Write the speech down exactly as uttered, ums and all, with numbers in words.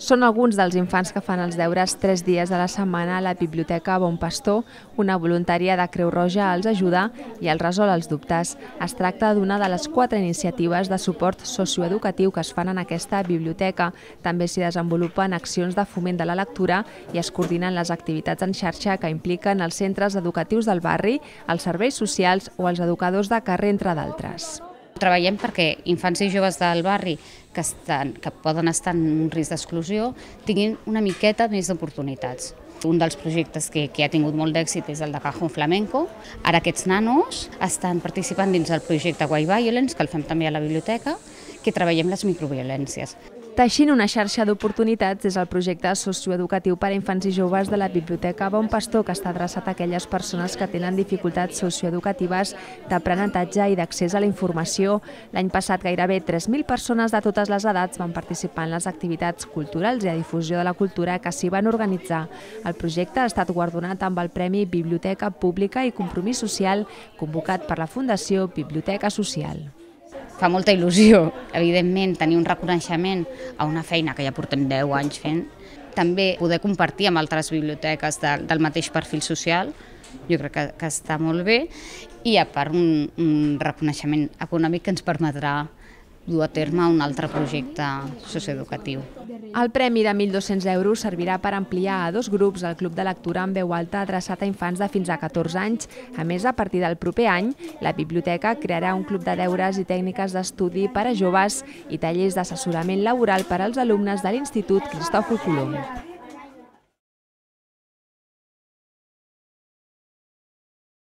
Són alguns dels infants que fan els deures tres dies a la setmana a la Biblioteca Bon Pastor. Una voluntària de Creu Roja els ajuda i els resol els dubtes. Es tracta d'una de les quatre iniciatives de suport socioeducatiu que es fan en aquesta biblioteca. També s'hi desenvolupen accions de foment de la lectura i es coordinen les activitats en xarxa que impliquen els centres educatius del barri, els serveis socials o els educadors de carrer, entre d'altres. Treballem perquè infants i joves del barri que, estan, que poden estar en un risc d'exclusió tinguin una miqueta més d'oportunitats. Un dels projectes que, que ha tingut molt d'èxit és el de Cajón Flamenco. Ara aquests nanos estan participant dins del projecte Why Violence, que el fem també a la biblioteca, que treballem les microviolències. Teixint una xarxa d'oportunitats és el projecte socioeducatiu per a infants i joves de la Biblioteca Bon Pastor, que està adreçat a aquelles persones que tenen dificultats socioeducatives d'aprenentatge i d'accés a la informació. L'any passat gairebé tres mil persones de totes les edats van participar en les activitats culturals i a difusió de la cultura que s'hi van organitzar. El projecte ha estat guardonat amb el Premi Biblioteca Pública i Compromís Social, convocat per la Fundació Biblioteca Social. Fa molta il·lusió, evidentment, tenir un reconeixement a una feina que ja portem deu anys fent. També poder compartir amb altres biblioteques de, del mateix perfil social, jo crec que, que està molt bé, i a part un, un reconeixement econòmic que ens permetrà dur a terme un altre projecte socioeducatiu. El premi de mil dos-cents euros servirà per ampliar a dos grups el Club de Lectura en veu alta adreçat a infants de fins a catorze anys. A més, a partir del proper any, la biblioteca crearà un club de deures i tècniques d'estudi per a joves i tallers d'assessorament laboral per als alumnes de l'Institut Cristòfor Colom.